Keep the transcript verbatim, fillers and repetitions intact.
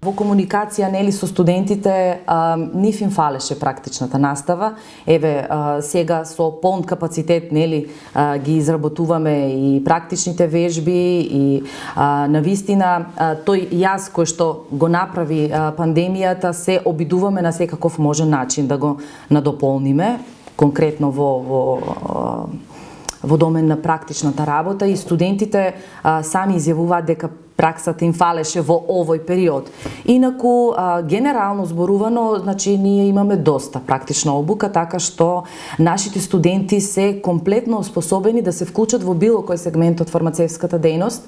во комуникација нели со студентите а, нив им фалеше практичната настава. Еве а, сега со полн капацитет нели а, ги изработуваме и практичните вежби и а, навистина а, тој јаз кој што го направи а, пандемијата се обидуваме на секаков можен начин да го надополниме, конкретно во во во домен на практичната работа, и студентите а, сами изјавуваат дека праксата им фалеше во овој период. Инаку, а, генерално зборувано, значи, ние имаме доста практична обука, така што нашите студенти се комплетно способени да се вклучат во било кој сегмент од фармацевската дејност.